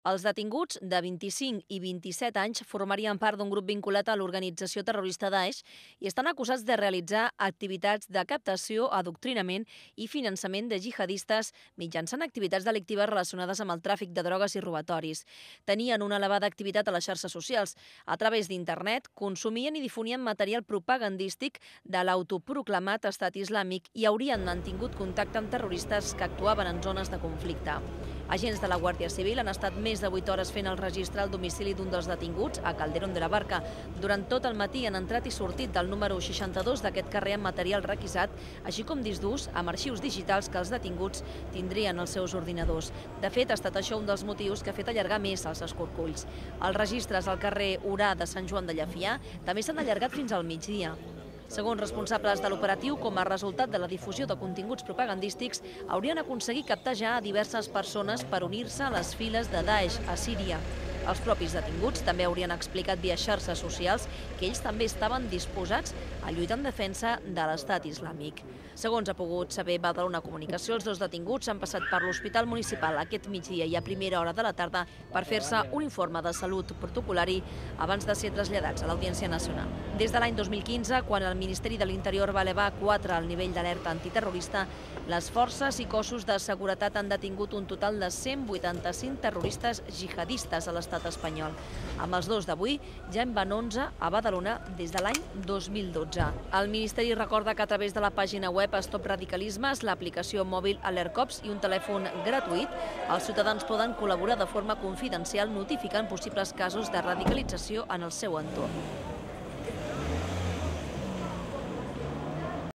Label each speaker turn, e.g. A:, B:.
A: Els detinguts de 25 i 27 anys formarien part d'un grup vinculat a l'organització terrorista Daesh i estan acusats de realitzar activitats de captació, adoctrinament i finançament de jihadistes mitjançant activitats delictives relacionades amb el tràfic de drogues i robatoris. Tenien una elevada activitat a les xarxes socials. A través d'internet consumien i difonien material propagandístic de l'autoproclamat estat islàmic i haurien mantingut contacte amb terroristes que actuaven en zones de conflicte. Agents de la Guàrdia Civil han estat més de 8 hores fent el registre al domicili d'un dels detinguts, a Calderón de la Barca. Durant tot el matí han entrat i sortit del número 62 d'aquest carrer amb material requisat, així com discs durs amb arxius digitals que els detinguts tindrien als seus ordinadors. De fet, ha estat això un dels motius que ha fet allargar més els escorcolls. Els registres al carrer Orà de Sant Joan de Llefià també s'han allargat fins al migdia. Segons responsables de l'operatiu, com a resultat de la difusió de continguts propagandístics, haurien aconseguit captar ja a diverses persones per unir-se a les files de Daesh a Síria. Els propis detinguts també haurien explicat via xarxes socials que ells també estaven disposats a lluitar en defensa de l'estat islàmic. Segons ha pogut saber Badalona Comunicació, els dos detinguts han passat per l'Hospital Municipal aquest migdia i a primera hora de la tarda per fer-se un informe de salut protocolari abans de ser traslladats a l'Audiència Nacional. Des de l'any 2015, quan el Ministeri de l'Interior va elevar 4 al nivell d'alerta antiterrorista, les forces i cossos de seguretat han detingut un total de 185 terroristes jihadistes a l'estat espanyol. Amb els dos d'avui, ja en van 11 a Badalona des de l'any 2012. El Ministeri recorda que a través de la pàgina web Stop Radicalismes, l'aplicació mòbil AlertCops i un telèfon gratuït, els ciutadans poden col·laborar de forma confidencial notificant possibles casos de radicalització en el seu entorn.